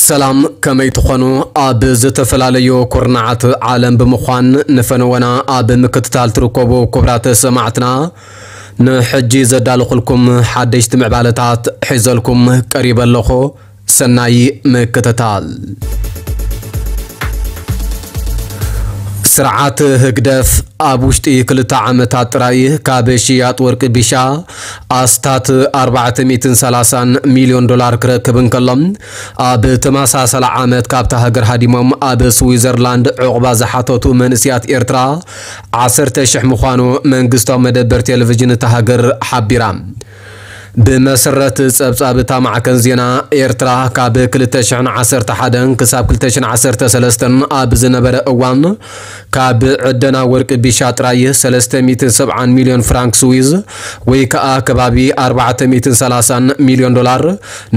ሰላም፣ ከመይ ትኾኑ? ኣብ ዝተፈላለዩ ኩርናዓት ዓለም ብምዃን ንፈነወና ኣብ ምክትታል ትርከቡ ክቡራት ሰማዕትና፣ ንሕጂ ዘዳለኹልኩም ሓደሽቲ ምዕባለታት ሒዘልኩም ቀሪበ ኣለኹ። ሰናይ ምክትታል። ስርዓት ህግደፍ ኣብ ውሽጢ ክልተ ዓመታት ጥራይ ካብ ሽያጥ ወርቂ ቢሻ ኣስታት ኣርባዕተ ሚእትን ሰላሳን ሚልዮን ዶላር ክረክብ እንከሎ፣ ኣብ ተመሳሳሊ ዓመት ካብታ ሃገር ሃዲሞም ኣብ ስዊዘርላንድ ዑቕባ ዝሓተቱ መንእስያት ኤርትራ ዓሰርተ ሽሕ ምዃኑ መንግስታዊ መደበር ቴሌቪዥን እታ ሃገር ሓቢራ። ብመሰረት ጸብጻብ እታ ማዕከን ዜና፣ ኤርትራ ካብ ክልተ ሽሕን ዓሰርተ ሓደን ክሳብ ክልተ ሽሕን ዓሰርተ ሰለስተን ኣብ ዝነበረ እዋን፣ ካብ ዕደና ወርቂ ቢሻ ጥራይ ሰለስተ ሚእትን ሰብዓን ሚልዮን ፍራንክ ስዊዝ፣ ወይ ከኣ ከባቢ ኣርባዕተ ሚእትን ሰላሳን ሚልዮን ዶላር፣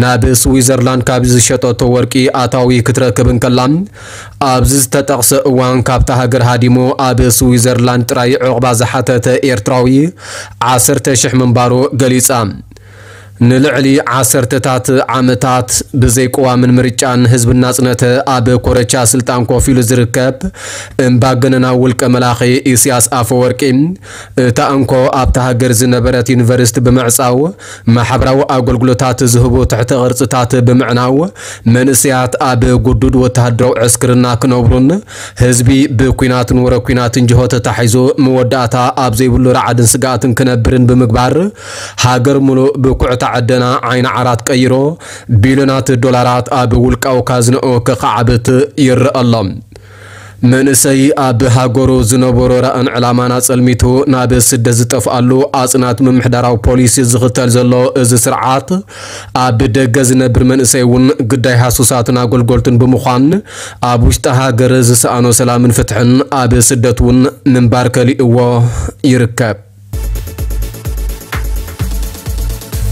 ናብ ስዊዘርላንድ ካብ ዝሸጠቶ ወርቂ ኣታዊ ክትረክብ እንከላ፣ ኣብዚ ዝተጠቕሰ እዋን ካብታ ሃገር ሃዲሙ ኣብ ስዊዘርላንድ ጥራይ ዑቕባ ዝሓተተ ኤርትራዊ ዓሰርተ ሽሕ ምንባሩ ገሊጻ። ንልዕሊ ዓሰርተታት ዓመታት ብዘይቅዋምን ምርጫን ህዝቢ እናጽነተ ኣብ ኮረቻ ስልጣን ኮፍ ኢሉ ዝርከብ እምባገነናዊ ውልቀ መላኺ ኢሳያስ ኣፈወርቂ፣ እታ እንኮ ኣብታ ሃገር ዝነበረት ዩኒቨርሲቲ ብምዕጻው፣ ማሕበራዊ ኣገልግሎታት ዝህቡ ትሕተ ቅርጽታት ብምዕናው፣ መንእሰያት ኣብ ግዱድ ወተሃደራዊ ዕስክርና ክነብሩን ህዝቢ ብኲናትን ወረ ኲናትን ጅሆ ተታሒዙ መወዳእታ ኣብ ዘይብሉ ረዓድን ስግኣትን ክነብርን ብምግባር፣ ሃገር ሙሉእ ብኩዕታ ዕደና ዓይኒ ዓራት ቀይሩ፣ ቢልዮናት ዶላራት ኣብ ውልቃዊ ካዝንኡ ከኻዕብት ይረአ ኣሎ። መንእሰይ ኣብ ሃገሩ ዝነበሮ ራእን ዕላማን ኣጸልሚቱ ናብ ስደት ዝጠፍኣሉ ኣጽናት ምምሕዳራዊ ፖሊሲ ዝኽተል ዘሎ እዚ ስርዓት፣ ኣብ ደገ ዝነብር መንእሰይ እውን ግዳይ ሃሱሳትን ኣገልገልቱን ብምዃን፣ ኣብ ውሽጢ ሃገር ዝሰኣኖ ሰላምን ፍትሕን ኣብ ስደት እውን ምንባር ከሊእዎ ይርከብ።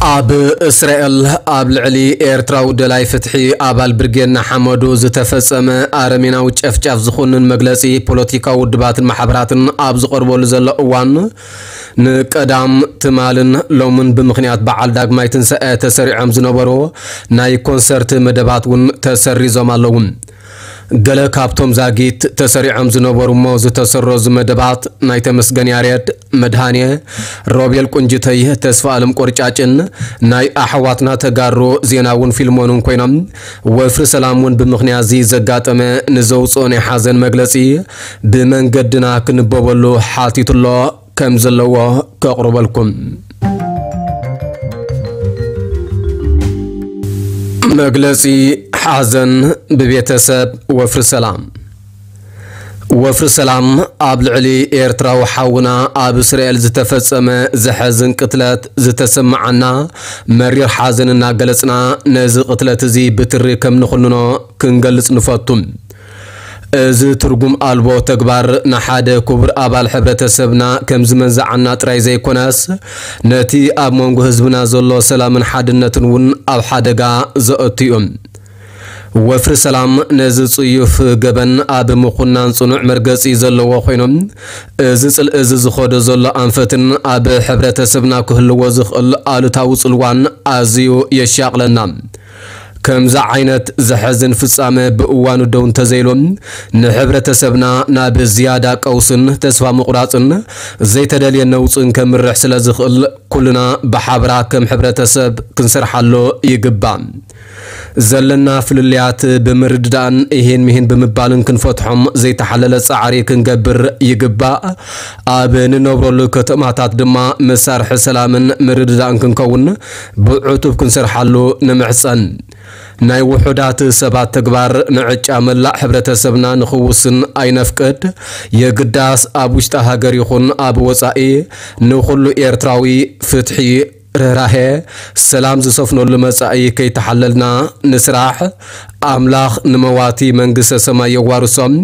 ኣብ እስራኤል ኣብ ልዕሊ ኤርትራዊ ደላይ ፍትሒ ኣባል ብርጌድ ንሓመዱ ዝተፈጸመ ኣረሜናዊ ጨፍጫፍ ዝኹንን መግለጺ ፖለቲካዊ ውድባትን ማሕበራትን ኣብ ዝቐርበሉ ዘሎ እዋን፣ ንቀዳም ትማልን ሎምን ብምኽንያት በዓል ዳግማይ ትንሳኤ ተሰሪዖም ዝነበሩ ናይ ኮንሰርት መደባት እውን ተሰሪዞም ኣለዉ። ገለ ካብቶም ዛጊት ተሰሪዖም ዝነበሩ እሞ ዝተሰረዙ መደባት ናይ ተመስገን ያሬድ፣ መድሃኔ፣ ሮቤል ቁንጅተይ፣ ተስፋ ኣለም ቆርጫጭን ናይ ኣሕዋትና ተጋሩ ዜናውን ፊልሞንን ኮይኖም፣ ወፍሪ ሰላም እውን ብምኽንያት እዚ ዘጋጠመ ንዘውፅኦ ናይ ሓዘን መግለፂ ብመንገድና ክንበበሉ ሓቲቱ ኣሎ። ከም ዘለዎ ከቕርበልኩም። መግለጺ ሓዘን ብቤተሰብ ወፍሪ ሰላም። ወፍሪ ሰላም ኣብ ልዕሊ ኤርትራዊ ሓውና ኣብ እስራኤል ዝተፈጸመ ዘሐዝን ቅትለት ዝተሰማዓና መሪር ሓዘን እናገለጽና፣ ነዚ ቅትለት እዚ ብትሪ ከም ንኹንኖ ክንገልጽ ንፈቱ። እዚ ትርጉም ኣልቦ ተግባር ንሓደ ክቡር ኣባል ሕብረተሰብና ከም ዝመንዝዓና ጥራይ ዘይኮነስ፣ ነቲ ኣብ መንጎ ህዝብና ዘሎ ሰላምን ሓድነትን እውን ኣብ ሓደጋ ዘእቱ እዩ። ወፍሪ ሰላም ነዚ ጽዩፍ ገበን ኣብ ምኹናን ጽኑዕ መርገጺ ዘለዎ ኮይኑ፣ እዚ ጽልኢ እዚ ዝኸዶ ዘሎ ኣንፈትን ኣብ ሕብረተሰብና ክህልዎ ዝኽእል ኣሉታዊ ጽልዋን ኣዝዩ የሻቕለና። ከምዚ ዓይነት ዘሐዝን ፍጻመ ብእዋኑ ደው እንተዘይሉ፣ ንሕብረተሰብና ናብ ዝያዳ ቀውስን ተስፋ ምቑራጽን ዘይተደልየ ነውጽን ከምርሕ ስለ ዝኽእል፣ ኩልና ብሓበራ ከም ሕብረተሰብ ክንሰርሓሉ ይግባእ። ዘለና ፍልልያት ብምርድዳእን እሂን ምሂን ብምባልን ክንፈትሖም ዘይተሓለለ ጻዕሪ ክንገብር ይግባእ። ኣብ ንነብረሉ ከተማታት ድማ መሳርሒ ሰላምን ምርድዳእን ክንከውን ብዕቱብ ክንሰርሓሉ ንምሕጸን። ናይ ውሑዳት ሰባት ተግባር ንዕጫ መላእ ሕብረተሰብና ንኽውስን ኣይነፍቅድ። የግዳስ ኣብ ውሽጢ ሃገር ይኹን ኣብ ወጻኢ ንኹሉ ኤርትራዊ ፍትሒ፣ ርህራሄ፣ ሰላም ዝሰፍነሉ መጻኢ ከይተሓለልና ንስራሕ። ኣምላኽ ንመዋቲ መንግስተ ሰማይ የዋርሶም፣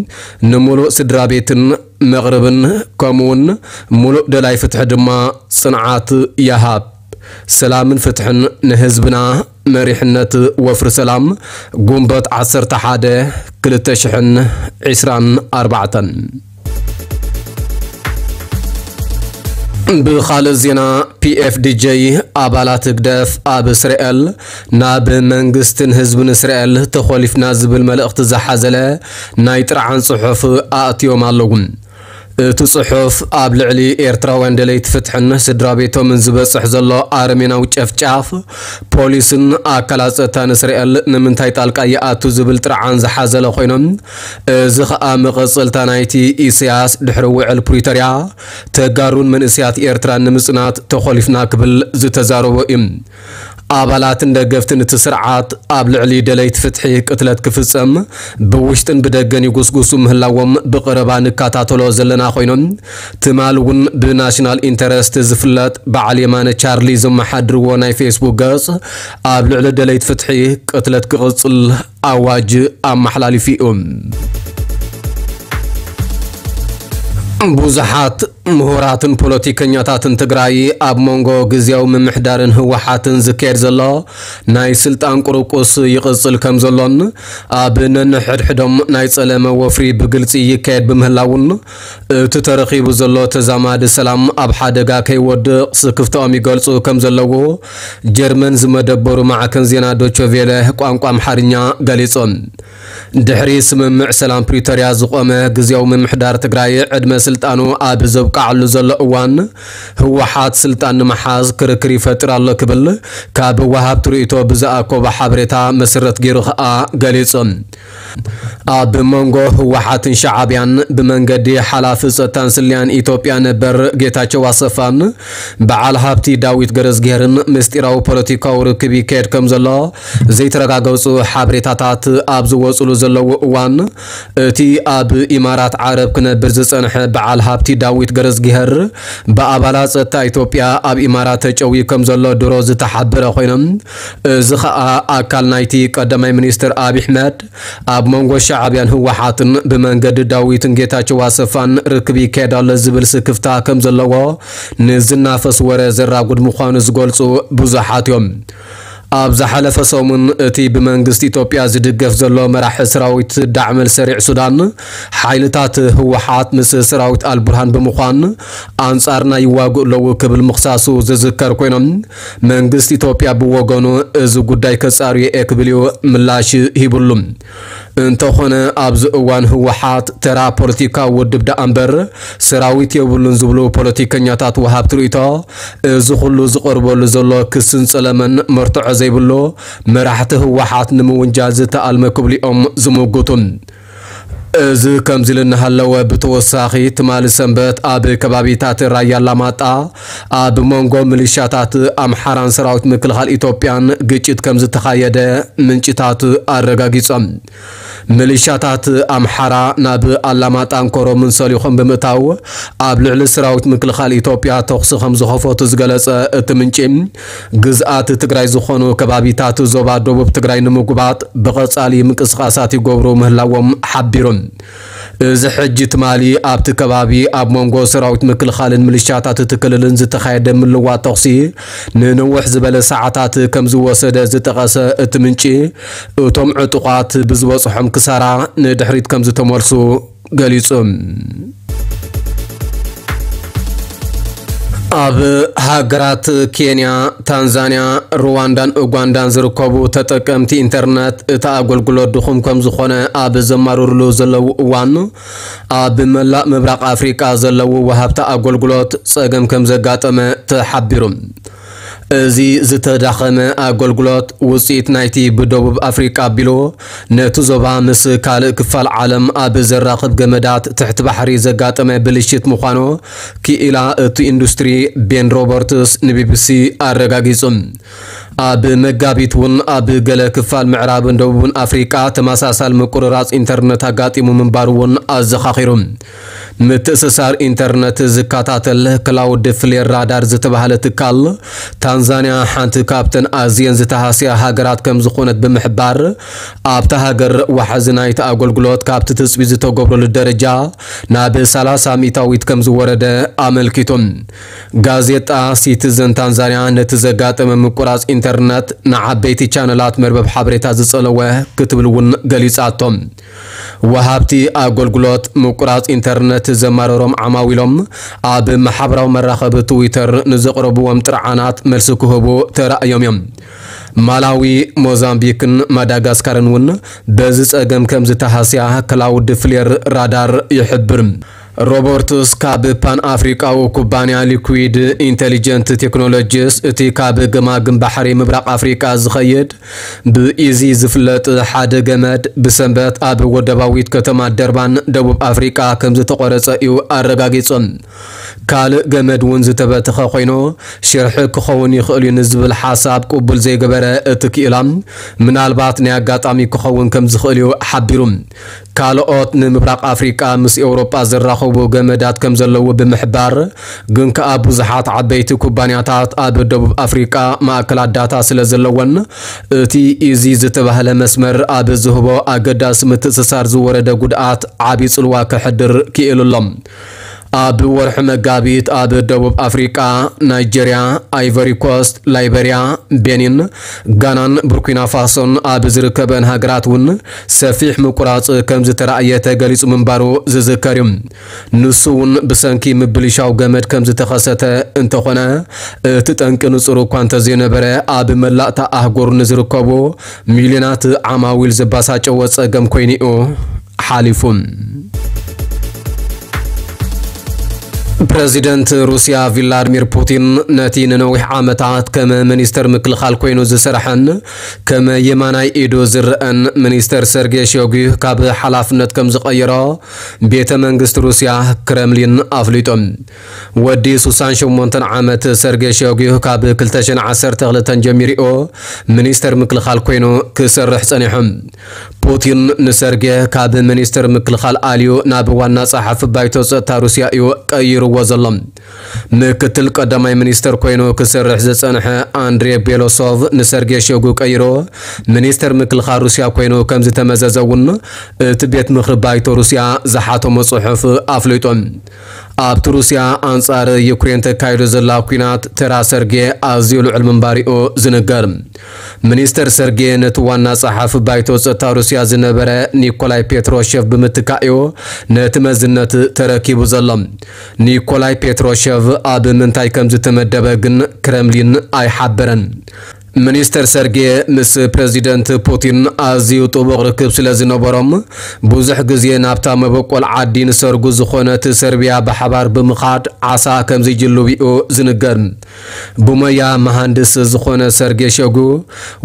ንምሉእ ስድራ ቤትን መቕርብን፣ ከምኡውን ምሉእ ደላይ ፍትሒ ድማ ጽንዓት ይሃብ። ሰላምን ፍትሕን ንህዝብና። መሪሕነት ወፍሪ ሰላም፣ ጉንበት ዓሰርተ ሓደ ክልተ ሽሕን ዕስራን ኣርባዕተን። ብኻልእ ዜና፣ ፒኤፍዲጄ ኣባላት ህግደፍ ኣብ እስራኤል ናብ መንግስትን ህዝብን እስራኤል ተኾሊፍና ዝብል መልእኽቲ ዝሓዘለ ናይ ጥርዓን ጽሑፍ ኣእትዮም ኣለዉ። እቲ ጽሑፍ ኣብ ልዕሊ ኤርትራውያን ደለይቲ ፍትሕን ስድራ ቤቶምን ዝበጽሕ ዘሎ ኣረሜናዊ ጨፍጫፍ ፖሊስን ኣካላት ጸጥታን እስራኤል ንምንታይ ጣልቃ ይኣቱ ዝብል ጥርዓን ዝሓዘለ ኮይኖም፣ እዚ ኸኣ መቐጸልታ ናይቲ ኢሳያስ ድሕሪ ውዕል ፕሪቶርያ ተጋሩን መንእሰያት ኤርትራን ንምጽናት ተኾሊፍና ክብል ዝተዛረቦ እዩ። ኣባላትን ደገፍትን እቲ ስርዓት ኣብ ልዕሊ ደለይቲ ፍትሒ ቅትለት ክፍጸም ብውሽጥን ብደገን ይጉስጉሱ ምህላዎም ብቐረባ ንከታተሎ ዘለና ኮይኖም፣ ትማል እውን ብናሽናል ኢንተረስት ዝፍለጥ በዓል የማነ ቻርሊ ዘመሓድርዎ ናይ ፌስቡክ ገጽ ኣብ ልዕሊ ደለይቲ ፍትሒ ቅትለት ክቕጽል ኣዋጅ ኣመሓላሊፉ እዩ። ብዙሓት ምሁራትን ፖለቲከኛታትን ትግራይ ኣብ መንጎ ግዝያዊ ምምሕዳርን ህወሓትን ዝካየድ ዘሎ ናይ ስልጣን ቁርቁስ ይቕጽል ከም ዘሎን ኣብ ነንሕድሕዶም ናይ ጸለመ ወፍሪ ብግልጺ ይካየድ ብምህላውን እቲ ተረኺቡ ዘሎ ተዛማዲ ሰላም ኣብ ሓደጋ ከይወድቕ ስክፍታኦም ይገልጹ ከም ዘለዉ ጀርመን ዝመደበሩ ማዕከን ዜና ዶቸቬለ ቋንቋ ኣምሓርኛ ገሊጹ። ድሕሪ ስምምዕ ሰላም ፕሪቶርያ ዝቖመ ግዝያዊ ምምሕዳር ትግራይ ዕድመ ስልጣኑ ኣብ ዘብቃዓሉ ዘሎ እዋን፣ ህወሓት ስልጣን ንምሓዝ ክርክር ይፈጥር ኣሎ ክብል ካብ ወሃብቲ ርእይቶ ብዝኣኮቦ ሓበሬታ መሰረት ገይሩ ከኣ ገሊጹ። ኣብ መንጎ ህወሓትን ሻዕብያን ብመንገዲ ሓላፊ ጸጥታን ስለያን ኢትዮጵያ ነበር ጌታቸው ኣሰፋን በዓል ሃብቲ ዳዊት ገረዝግሄርን ምስጢራዊ ፖለቲካዊ ርክብ ይካየድ ከም ዘሎ ዘይተረጋገጹ ሓበሬታታት ኣብ ዝወጽሉ ዘለዉ እዋን፣ እቲ ኣብ ኢማራት ዓረብ ክነብር ዝጸንሐ በዓል ሃብቲ ዳዊት ገረዝግሄር ብኣባላት ጸጥታ ኢትዮጵያ ኣብ ኢማራት ተጨውዩ ከም ዘሎ ድሮ ዝተሓበረ ኮይኖም፣ እዚ ኸኣ ኣካል ናይቲ ቀዳማይ ሚኒስትር ኣብይ ኣሕመድ ኣብ መንጎ ሻዕብያን ህወሓትን ብመንገዲ ዳዊትን ጌታቸው ኣሰፋን ርክብ ይካየድ ኣሎ ዝብል ስክፍታ ከም ዘለዎ ንዝናፈስ ወረ ዘራጉድ ምዃኑ ዝገልጹ ብዙሓት እዮም። ኣብ ዝሓለፈ ሰሙን እቲ ብመንግስቲ ኢትዮጵያ ዝድገፍ ዘሎ መራሒ ሰራዊት ዳዕመል ሰሪዕ ሱዳን፣ ሓይልታት ህወሓት ምስ ሰራዊት ኣልቡርሃን ብምዃን ኣንጻርና ይዋግኡ ኣለዉ ክብል ምኽሳሱ ዝዝከር ኮይኖም፣ መንግስቲ ኢትዮጵያ ብወገኑ እዚ ጉዳይ ከጻርዮ እየ ክብል እዩ ምላሽ ሂብሉ። እንተኾነ ኣብዚ እዋን ህወሓት ተራ ፖለቲካዊ ውድብ ደኣ እምበር ሰራዊት የብሉን ዝብሉ ፖለቲከኛታት ወሃብቲ ርእይቶ፣ እዚ ኩሉ ዝቐርበሉ ዘሎ ክስን ጸለመን መርትዖ ዘይብሉ መራሕቲ ህወሓት ንምውንጃል ዝተኣልመ ክብሉ እዮም ዝምጉቱ። እዚ ከምዚ ኢሉ እናሃለወ ብተወሳኺ ትማሊ ሰንበት ኣብ ከባቢታት ራያ ኣላማጣ ኣብ መንጎ ሚሊሻታት ኣምሓራን ሰራዊት ምክልኻል ኢትዮጵያን ግጭት ከም ዝተኻየደ ምንጭታት ኣረጋጊጾም። ሚሊሻታት ኣምሓራ ናብ ኣላማጣን ኮረምን ሰሊኾም ብምእታው ኣብ ልዕሊ ሰራዊት ምክልኻል ኢትዮጵያ ተኹሲ ከም ዝኸፈቱ ዝገለጸ እቲ ምንጪ፣ ግዝኣት ትግራይ ዝኾኑ ከባቢታት ዞባ ደቡብ ትግራይ ንምጉባጥ ብቐጻሊ ምንቅስቓሳት ይገብሩ ምህላዎም ሓቢሩ። እዚ ሕጂ ትማሊ ኣብቲ ከባቢ ኣብ መንጎ ሰራዊት ምክልኻልን ሚሊሻታት እቲ ክልልን ዝተኻየደ ምልዋጥ ተኹሲ ንንውሕ ዝበለ ሰዓታት ከም ዝወሰደ ዝጠቐሰ እቲ ምንጪ፣ እቶም ዕጡቓት ብዝበጽሖም ክሳራ ንድሕሪት ከም ዝተመልሱ ገሊጹ። ኣብ ሃገራት ኬንያ፣ ታንዛንያ፣ ሩዋንዳን ኡጋንዳን ዝርከቡ ተጠቀምቲ ኢንተርነት እቲ ኣገልግሎት ድኹም ከም ዝኾነ ኣብ ዘማርርሉ ዘለዉ እዋን፣ ኣብ መላእ ምብራቕ ኣፍሪቃ ዘለዉ ወሃብቲ ኣገልግሎት ጸገም ከም ዘጋጠመ ተሓቢሩ። እዚ ዝተዳኸመ ኣገልግሎት ውጽኢት ናይቲ ብደቡብ ኣፍሪቃ ኣቢሉ ነቲ ዞባ ምስ ካልእ ክፋል ዓለም ኣብ ዘራኽብ ገመዳት ትሕቲ ባሕሪ ዘጋጠመ ብልሽት ምዃኑ ክኢላ እቲ ኢንዱስትሪ ቤን ሮበርትስ ንቢቢሲ ኣረጋጊጹ። ኣብ መጋቢት እውን ኣብ ገለ ክፋል ምዕራብን ደቡብን ኣፍሪቃ ተመሳሳሊ ምቁርራጽ ኢንተርነት ኣጋጢሙ ምንባሩ እውን ኣዘኻኺሩ። ምትእስሳር ኢንተርነት ዝከታተል ክላውድ ፍሌር ራዳር ዝተባህለ ትካል፣ ታንዛንያ ሓንቲ ካብተን ኣዝየን ዝተሃስያ ሃገራት ከም ዝኾነት ብምሕባር፣ ኣብታ ሃገር ዋሕዚ ናይቲ ኣገልግሎት ካብቲ ትጽቢት ዝተገብረሉ ደረጃ ናብ ሰላሳ ሚእታዊት ከም ዝወረደ ኣመልኪቱ። ጋዜጣ ሲቲዘን ታንዛንያ ነቲ ዘጋጠመ ምቁራጽ ኢንተርነት ንዓበይቲ ቻነላት መርበብ ሓበሬታ ዝጸለወ ክትብል እውን ገሊጻቶ። ወሃብቲ ኣገልግሎት ምቁራጽ ኢንተርነት ዘማረሮም ዓማዊሎም ኣብ ማሕበራዊ መራኸቢ ትዊተር ንዘቕረብዎም ጥርዓናት መልሲ ክህቡ ተራእዮም እዮም። ማላዊ፣ ሞዛምቢክን ማዳጋስካርን እውን በዚ ጸገም ከም ዝተሃስያ ክላውድ ፍሌር ራዳር ይሕብር። ሮበርትስ ካብ ፓን ኣፍሪቃዊ ኩባንያ ሊኩዊድ ኢንተሊጀንት ቴክኖሎጂስ፣ እቲ ካብ ገማግም ባሕሪ ምብራቕ ኣፍሪቃ ዝኸይድ ብኢዚ ዝፍለጥ ሓደ ገመድ ብሰንበት ኣብ ወደባዊት ከተማ ደርባን ደቡብ ኣፍሪቃ ከም ዝተቖረጸ እዩ ኣረጋጊጹ። ካልእ ገመድ እውን ዝተበተኸ ኮይኑ ሽርሒ ክኸውን ይኽእል እዩ ንዝብል ሓሳብ ቅቡል ዘይገበረ እቲ ክኢላ፣ ምናልባት ናይ ኣጋጣሚ ክኸውን ከም ዝኽእል እዩ ሓቢሩ። ካልኦት ንምብራቕ ኣፍሪቃ ምስ ኤውሮጳ ዘራኽቡ ገመዳት ከም ዘለዉ ብምሕባር፣ ግን ከኣ ብዙሓት ዓበይቲ ኩባንያታት ኣብ ደቡብ ኣፍሪቃ ማእከላት ዳታ ስለ ዘለወን፣ እቲ ኢዚ ዝተባህለ መስመር ኣብ ዝህቦ ኣገዳሲ ምትእስሳር ዝወረደ ጉድኣት ዓቢ ጽልዋ ከሕድር ክኢሉ ኣሎ። ኣብ ወርሒ መጋቢት ኣብ ደቡብ ኣፍሪቃ፣ ናይጀርያ፣ ኣይቨሪ ኮስት፣ ላይበርያ፣ ቤኒን፣ ጋናን ቡርኪና ፋሶን ኣብ ዝርከበን ሃገራት እውን ሰፊሕ ምቁራጽ ከም ዝተራእየ ተገሊጹ ምንባሩ ዝዝከር እዩ። ንሱ እውን ብሰንኪ ምብልሻው ገመድ ከም ዝተኸሰተ እንተኾነ፣ እቲ ጠንቂ ንጹር እኳ እንተዘይነበረ፣ ኣብ መላእታ ኣህጉር ንዝርከቡ ሚልዮናት ዓማዊል ዘባሳጨወ ጸገም ኮይኑ እዩ ሓሊፉ። ፕረዚደንት ሩስያ ቪላድሚር ፑቲን ነቲ ንነዊሕ ዓመታት ከም ሚኒስተር ምክልኻል ኮይኑ ዝሰርሐን ከም የማናይ ኢዱ ዝረአን ሚኒስተር ሰርጌ ሾጉ ካብ ሓላፍነት ከም ዝቐየሮ ቤተ መንግስቲ ሩስያ ክረምሊን ኣፍሊጡ። ወዲ ሱሳን ሸሞንተን ዓመት ሰርጌ ሾጉ ካብ ክልተ ሽሕን ዓሰርተ ክልተን ጀሚሩ ሚኒስተር ምክልኻል ኮይኑ ክሰርሕ ጸኒሑ። ፑቲን ንሰርጌ ካብ ሚኒስተር ምክልኻል ኣልዩ ናብ ዋና ጸሓፊ ባይቶ ጸጥታ ሩስያ እዩ ቀይርዎ ዘሎ። ምክትል ቀዳማይ ሚኒስተር ኮይኑ ክሰርሕ ዝጸንሐ ኣንድሬ ቤሎሶቭ ንሰርጌ ሾጉ ቀይሮ ሚኒስተር ምክልኻል ሩስያ ኮይኑ ከም ዝተመዘዘ እውን እቲ ቤት ምኽሪ ባይቶ ሩስያ ዝሓተሞ ጽሑፍ ኣፍሊጡ። ኣብቲ ሩስያ ኣንጻር ዩክሬን ተካይዶ ዘላ ኲናት ተራ ሰርጌ ኣዝዩ ልዑል ምንባሪኡ ዝንገር። ሚኒስተር ሰርጌ ነቲ ዋና ጸሓፊ ባይቶ ጸጥታ ሩስያ ዝነበረ ኒኮላይ ፔትሮሼቭ ብምትካእዮ ነቲ መዝነት ተረኪቡ ዘሎ። ኒኮላይ ፔትሮሼቭ ኣብ ምንታይ ከም ዝተመደበ ግን ክረምሊን ኣይሓበረን። ሚኒስተር ሰርጌ ምስ ፕረዚደንት ፑቲን ኣዝዩ ጥቡቕ ርክብ ስለ ዝነበሮም፣ ብዙሕ ግዜ ናብታ መበቆል ዓዲ ንሰርጉ ዝኾነት ሰርቢያ ብሓባር ብምኻድ ዓሳ ከም ዝጅልቡ እዩ ዝንገር። ብሞያ መሃንድስ ዝኾነ ሰርጌ ሸጉ፣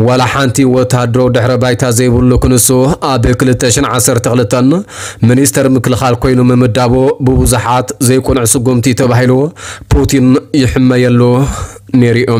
ዋላ ሓንቲ ወተሃደራዊ ድሕረ ባይታ ዘይብሉ ክንሱ፣ ኣብ ክልተ ሽሕን ዓሰርተ ክልተን ሚኒስተር ምክልኻል ኮይኑ ምምዳቡ ብብዙሓት ዘይቁኑዕ ስጉምቲ ተባሂሉ ፑቲን ይሕመየሉ ነይሩ እዩ።